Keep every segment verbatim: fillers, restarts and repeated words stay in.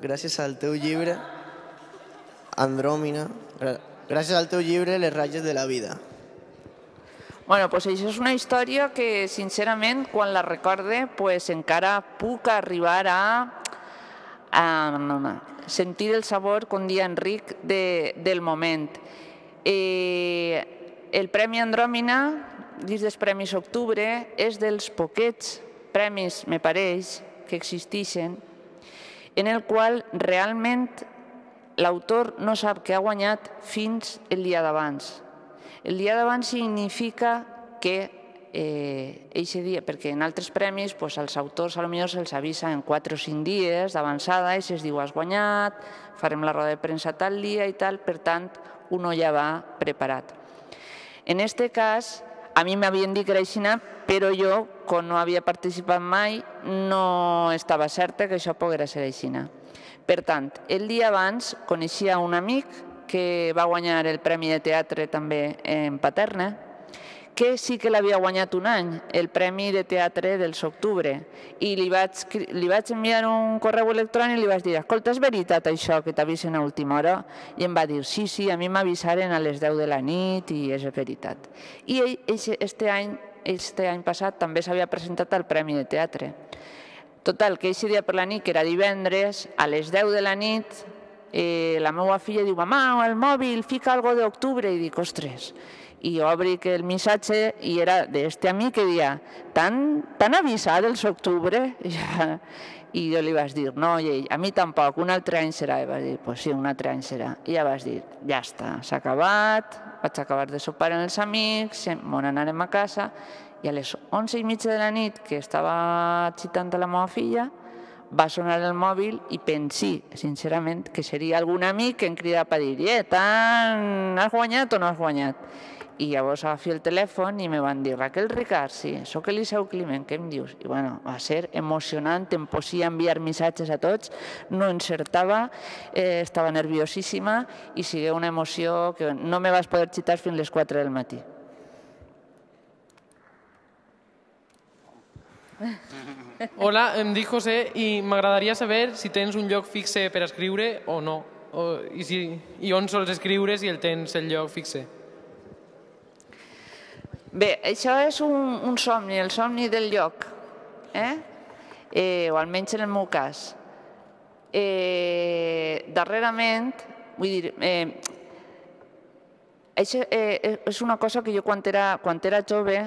gràcies al teu llibre, Andròmina, gràcies al teu llibre, Les ratlles de la vida. Bueno, doncs això és una història que, sincerament, quan la recorde, pues, encara puc arribar a, a sentir el sabor, com dia Enric, de, del moment. Eh, el Premi Andròmina, dins dels Premis Octubre, és dels poquets premis, me pareix, que existeixen, en el qual realment l'autor no sap que ha guanyat fins el dia d'abans. El dia d'abans significa que eh, eixe dia, perquè en altres premis pues, als autors potser se'ls avisa en quatre o cinc dies d'avançada i se'ls diu has guanyat, farem la roda de premsa tal dia i tal, per tant, uno ja va preparat. En aquest cas, a mi m'havien dit que era així, però jo, com no havia participat mai, no estava certa que això poguera ser així. Per tant, el dia abans coneixia un amic que va guanyar el Premi de Teatre també en Paterna, que sí que l'havia guanyat un any, el Premi de Teatre dels Octubre, i li vaig, li vaig enviar un correu electrònic i li vaig dir escolta, és veritat això que t'avisen a última hora? I em va dir sí, sí, a mi m'avisaren a les deu de la nit i és veritat. I ell, este any, este any passat, també s'havia presentat al Premi de Teatre. Total, que aquest dia per la nit, que era divendres, a les deu de la nit, eh, la meva filla diu, mamà, el mòbil, fica algo d'octubre, i dic, ostres, i obric el missatge i era d'este amic que deia, t'han avisat els octubre? I jo li vaig dir, no, i ell, a mi tampoc, un altre any serà. I vaig dir, pues sí, un altre any serà. I ja vaig dir, ja està, s'ha acabat, vaig acabar de sopar amb els amics, me n'anarem a casa, i a les onze i mitja de la nit, que estava xitant a la meva filla, va sonar el mòbil i pensé, sincerament, que seria algun amic que em cridava per dir, eh, has guanyat o no has guanyat? I llavors agafi el telèfon i me van dir, Raquel Ricard, sí, soc Eliseu Climent, què em dius? I bueno, va ser emocionant, em posia a enviar missatges a tots, no encertava, eh, estava nerviosíssima i sigui una emoció que no me vas poder xitar fins a les quatre del matí. Hola, em dic José i m'agradaria saber si tens un lloc fixe per escriure o no, o, i, si, i on sols escriure si el tens el lloc fixe. Bé, això és un, un somni, el somni del lloc, eh? Eh, o almenys en el meu cas. Eh, darrerament, vull dir, eh, això, eh, és una cosa que jo quan era, quan era jove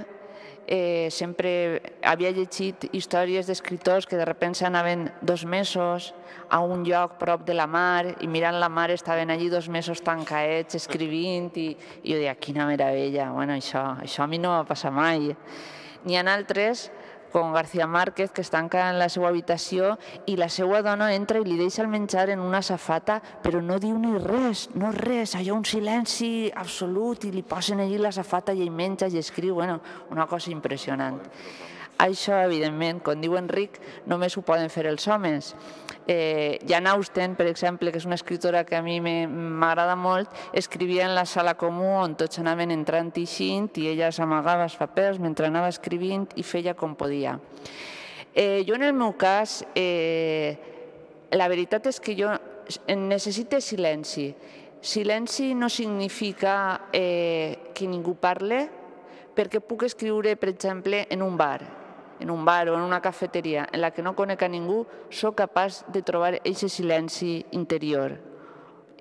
eh, sempre havia llegit històries d'escriptors que de repente anaven dos mesos a un lloc prop de la mar i mirant la mar estaven allí dos mesos tancats escrivint i, i jo deia, quina meravella, bueno, això, això a mi no va passar mai. N'hi ha altres, com García Márquez, que es tanca en la seva habitació i la seva dona entra i li deixa el menjar en una safata, però no diu ni res, no res, hi ha un silenci absolut i li posen allí la safata i ell menja i escriu, bueno, una cosa impressionant. Això, evidentment, com diu Enric, només ho poden fer els homes. Eh, Jane Austen, per exemple, que és una escriptora que a mi m'agrada molt, escrivia en la sala comú on tots anaven entrant i eixint i ella s'amagava els papers mentre anava escrivint i feia com podia. Eh, jo, en el meu cas, eh, la veritat és que jo necessito silenci. Silenci no significa eh, que ningú parle, perquè puc escriure, per exemple, en un bar, en un bar o en una cafeteria en la que no conec a ningú, soc capaç de trobar aquest silenci interior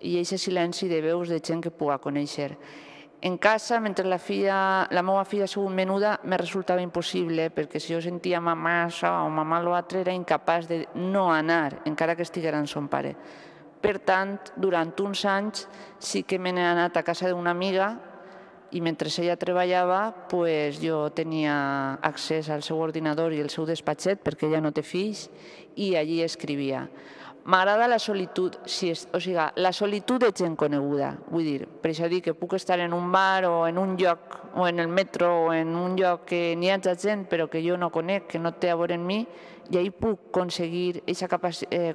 i aquest silenci de veus de gent que puga conèixer. En casa, mentre la, filla, la meva filla ha sigut menuda, me resultava impossible, perquè si jo sentia mamà això o mamà l'altre, era incapaç de no anar, encara que estiguera amb son pare. Per tant, durant uns anys sí que me n'he anat a casa d'una amiga i mentre ella treballava jo tenia accés al seu ordinador i al seu despatxet perquè ella no té fills i allí escrivia. M'agrada la solitud, o sigui, la solitud de gent coneguda, vull dir, per això dic que puc estar en un bar o en un lloc, o en el metro o en un lloc que n'hi ha gent però que jo no conec, que no té a veure amb mi, i ahir puc aconseguir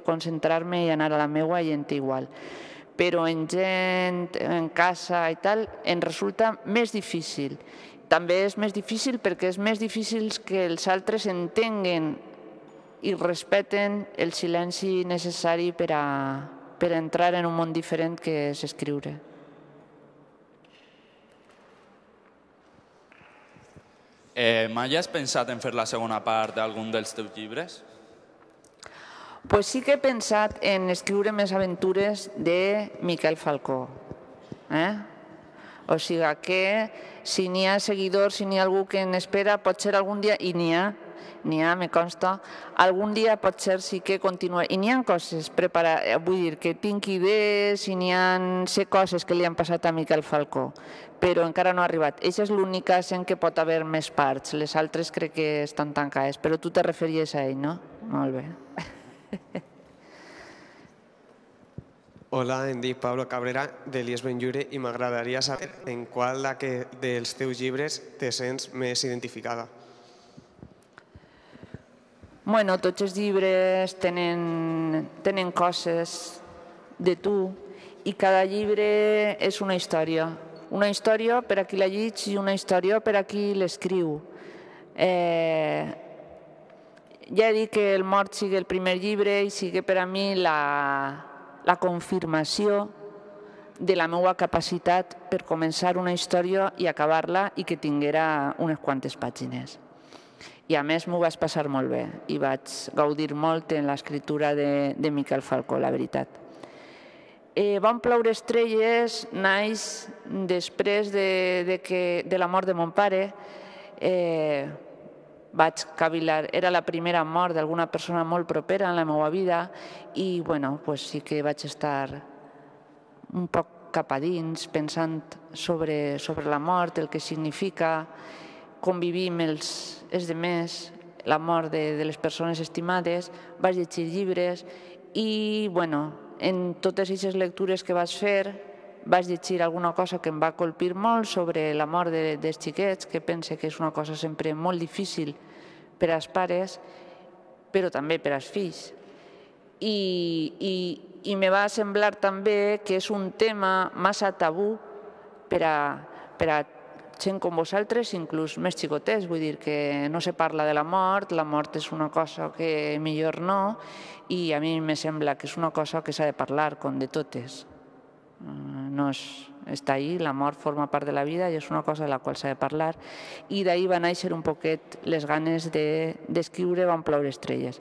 concentrar-me i anar a la meua gent igual. Però en gent, en casa i tal, em resulta més difícil. També és més difícil perquè és més difícil que els altres entenguen i respecten el silenci necessari per a, per a entrar en un món diferent que és escriure. Eh, mai has pensat en fer la segona part d'algun dels teus llibres? Pues sí que he pensat en escriure més aventures de Miquel Falcó. Eh? O sigui que si n'hi ha seguidors, si n'hi ha algú que n'espera, potser algun dia, i n'hi ha, n'hi ha, me consta, algun dia potser sí que continua. I n'hi ha coses preparades, vull dir, que tinc idees i n'hi ha sé coses que li han passat a Miquel Falcó, però encara no ha arribat. Eixa és l'únic cas en què pot haver més parts, les altres crec que estan tancades, però tu te referies a ell, no? Molt bé. Hola, em dic Pablo Cabrera, de l'I E S Benlliure, i m'agradaria saber en qual dels teus llibres te sents més identificada. Bueno, tots els llibres tenen, tenen coses de tu i cada llibre és una història. Una història per a qui la llig i una història per a qui l'escriu. Eh, ja he dit que El mort sigui el primer llibre i sigui per a mi la, la confirmació de la meva capacitat per començar una història i acabar-la i que tinguera unes quantes pàgines. I a més m'ho vaig passar molt bé i vaig gaudir molt en l'escriptura de, de Miquel Falcó, la veritat. Eh, Van ploure estrelles naix després de, de, que, de la mort de mon pare. Eh, vaig cavilar, era la primera mort d'alguna persona molt propera en la meva vida i bueno, pues sí que vaig estar un poc cap a dins pensant sobre, sobre la mort, el que significa convivir amb els, els demés, la mort de, de les persones estimades, vaig llegir llibres i, bueno, en totes aquestes lectures que vaig fer, vaig llegir alguna cosa que em va colpir molt sobre la mort de, dels xiquets, que pense que és una cosa sempre molt difícil per als pares, però també per als fills. I, i, i me va semblar també que és un tema massa tabú per a, per a gent com vosaltres, inclús més xicotets, vull dir que no se parla de la mort, la mort és una cosa que millor no, i a mi me sembla que és una cosa que s'ha de parlar, com de totes. No és, està ahí, la mort forma part de la vida i és una cosa de la qual s'ha de parlar, i d'ahir va néixer un poquet les ganes d'escriure Van ploure estrelles.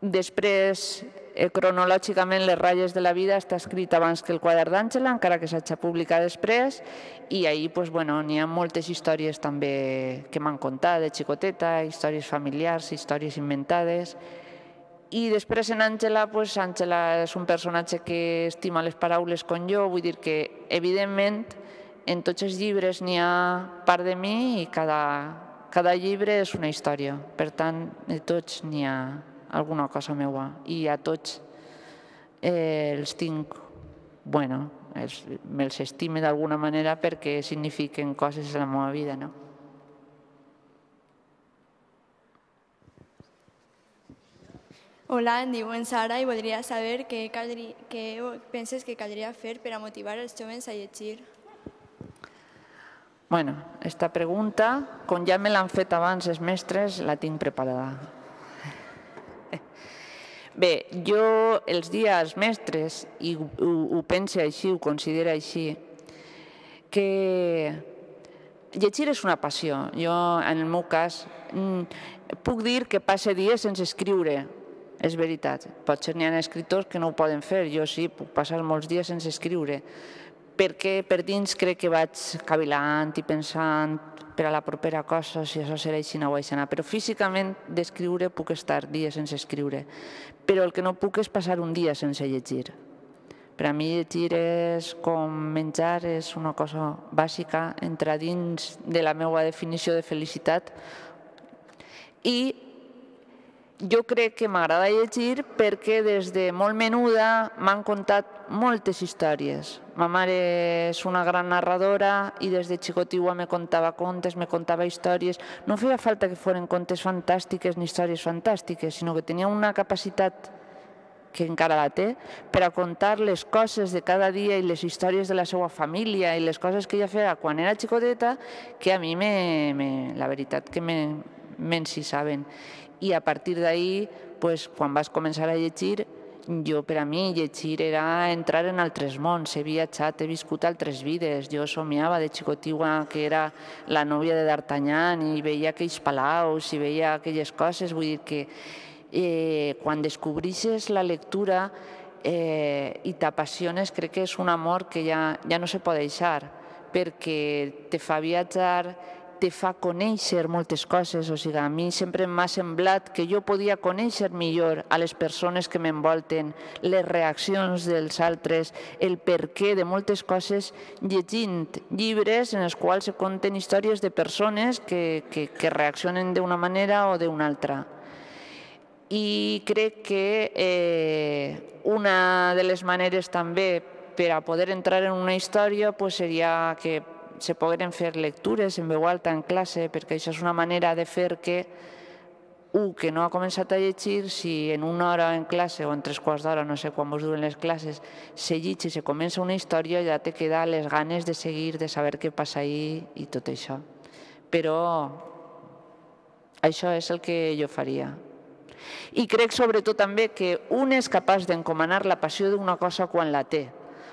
Després, eh, cronològicament, Les ratlles de la vida està escrit abans que El quadern d'Àngela, encara que s'ha publicat després, i ahir pues, bueno, n'hi ha moltes històries també que m'han contat de xicoteta, històries familiars, històries inventades. I després en Àngela, pues, Àngela és un personatge que estima les paraules com jo, vull dir que, evidentment, en tots els llibres n'hi ha part de mi i cada, cada llibre és una història. Per tant, de tots n'hi ha alguna cosa meua i a tots eh, els tinc, bueno, els, me'ls estime d'alguna manera perquè signifiquen coses en la meva vida, no? Hola, em diuen Sara i voldria saber què, caldria, què penses que caldria fer per a motivar els joves a llegir. Bueno, esta pregunta, com ja me l'han fet abans els mestres, la tinc preparada. Bé, jo els dies als mestres, i ho, ho pense així, ho considero així, que llegir és una passió. Jo, en el meu cas, puc dir que passe dies sense escriure, és veritat. Potser n'hi ha escriptors que no ho poden fer, jo sí, puc passar molts dies sense escriure, perquè per dins crec que vaig cavilant i pensant per a la propera cosa, si això serà així, no ho així, però físicament d'escriure puc estar dies sense escriure, però el que no puc és passar un dia sense llegir. Per a mi llegir és com menjar, és una cosa bàsica, entra dins de la meva definició de felicitat, i jo crec que m'agrada llegir perquè des de molt menuda m'han contat moltes històries. Ma mare és una gran narradora i des de xicotiua me contava contes, me contava històries. No feia falta que foren contes fantàstiques ni històries fantàstiques, sinó que tenia una capacitat, que encara la té, per a contar les coses de cada dia i les històries de la seva família i les coses que ella feia quan era xicoteta, que a mi, me, me, la veritat, que m'encissaven. I a partir d'ahir, pues, quan vas començar a llegir, jo, per a mi, llegir era entrar en altres mons. He viatjat, he viscut altres vides. Jo somiava de xicotigua que era la nòvia de D'Artagnan i veia aquells palaus i veia aquelles coses. Vull dir que eh, quan descobreixes la lectura eh, i t'apassiones, crec que és un amor que ja, ja no se pot deixar, perquè te fa viatjar, te fa conèixer moltes coses. O sigui, a mi sempre m'ha semblat que jo podia conèixer millor a les persones que m'envolten, les reaccions dels altres, el perquè de moltes coses, llegint llibres en els quals se conten històries de persones que, que, que reaccionen d'una manera o d'una altra. I crec que eh, una de les maneres també per a poder entrar en una història pues, seria que se pogueren fer lectures en veu alta en classe, perquè això és una manera de fer que un que no ha començat a llegir, si en una hora en classe o en tres quarts d'hora, no sé quan vos duren les classes, se llegeix i se comença una història, ja te queda les ganes de seguir, de saber què passa ahí i tot això. Però això és el que jo faria. I crec sobretot també que un és capaç d'encomanar la passió d'una cosa quan la té.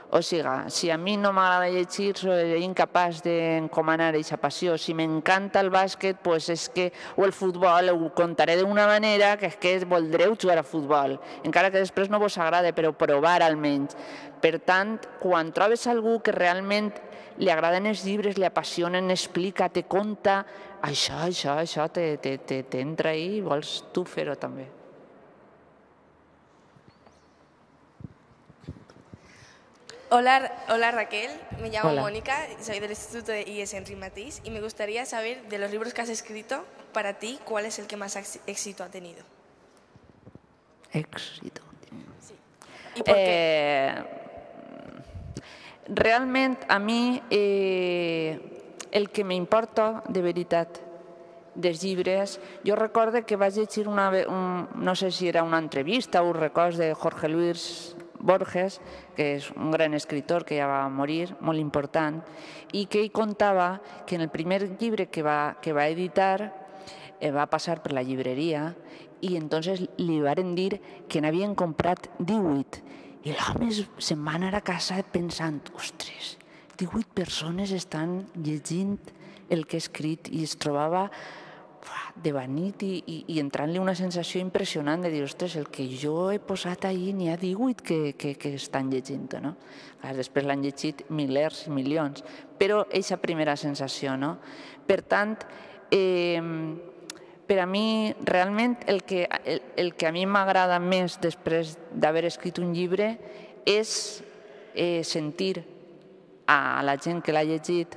O sigui, si a mi no m'agrada llegir, soy incapaç d'encomanar aquesta passió. Si m'encanta el bàsquet, pues és que, o el futbol, ho contaré d'una manera que és que voldreu jugar a futbol, encara que després no vos agrada, però provar almenys. Per tant, quan trobes algú que realment li agraden els llibres, li apassionen, explica, te conta, això, això, això, t'entra ahí i vols tu fer-ho també. Hola, hola Raquel, me llamo Hola. Mónica, soy del Instituto de I E S Henry Matisse y me gustaría saber de los libros que has escrito, para ti, ¿cuál es el que más éxito ha tenido? Éxito. Sí. ¿Y por qué? Eh, realment, a mi, eh, el que m'importa, de veritat, dels llibres, jo recordo que vaig llegir una, un, no sé si era una entrevista o un record de Jorge Luis Borges, que és un gran escritor que ja va morir, molt important, i que ell contava que en el primer llibre que va, que va editar eh, va passar per la llibreria i entonces li varen dir que n'havien comprat divuit i l'home se'n va anar a casa pensant, ostres, divuit persones estan llegint el que he escrit i es trobava devanit i, i, i entrant-li una sensació impressionant de dir, ostres, el que jo he posat ahir n'hi ha divuit que, que, que estan llegint, no? Clar, després l'han llegit milers i milions, però aquesta primera sensació, no? Per tant, eh, per a mi, realment, el que, el, el que a mi m'agrada més després d'haver escrit un llibre és eh, sentir a la gent que l'ha llegit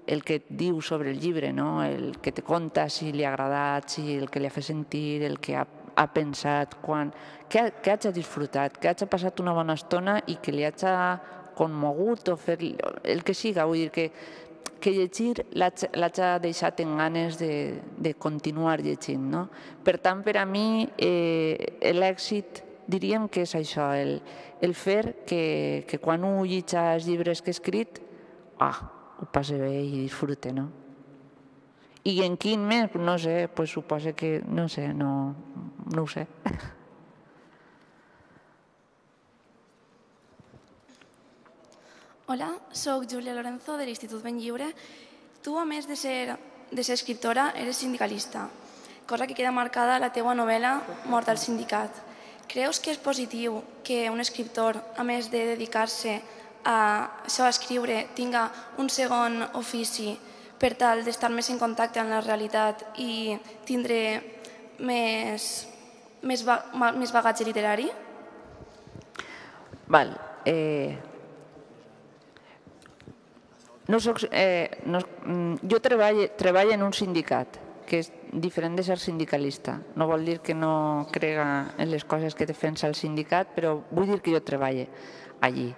el que et diu sobre el llibre, no? El que te conta, si li ha agradat, si el que li ha fet sentir, el que ha, ha pensat, quan, que, que hagi disfrutat, que hagi passat una bona estona i que li hagi conmogut o fer el que siga. Vull dir que, que llegir l'hagi deixat en ganes de, de continuar llegint, no? Per tant, per a mi, eh, l'èxit diríem que és això, el, el fer que, que quan un llegeix els llibres que he escrit, ah, ho passe bé i disfrute, no? I en quin més? No sé, pues suposo que, no sé, no, no ho sé. Hola, soc Júlia Lorenzo de l'Institut Ben Lliure. Tu, a més de ser, de ser escriptora, eres sindicalista, cosa que queda marcada a la teua novel·la Mort al sindicat. Creus que és positiu que un escriptor, a més de dedicar-se a això, a escriure, tinga un segon ofici per tal d'estar més en contacte amb la realitat i tindre més, més, més bagatge literari? Val. Eh, no soc, eh, no, jo treballo, treballo en un sindicat, que és diferent de ser sindicalista. No vol dir que no crega en les coses que defensa el sindicat, però vull dir que jo treballo allí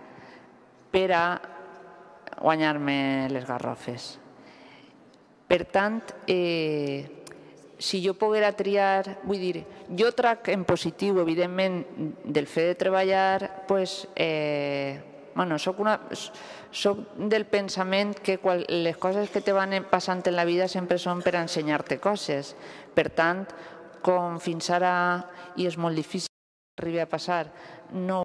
per a guanyar-me les garrofes. Per tant, eh, si jo poguera triar, vull dir, jo trac en positiu, evidentment, del fet de treballar, pues, eh, bueno, soc, una, soc del pensament que qual, les coses que te van passant en la vida sempre són per ensenyar-te coses. Per tant, com fins ara, i és molt difícil que arribi a passar, no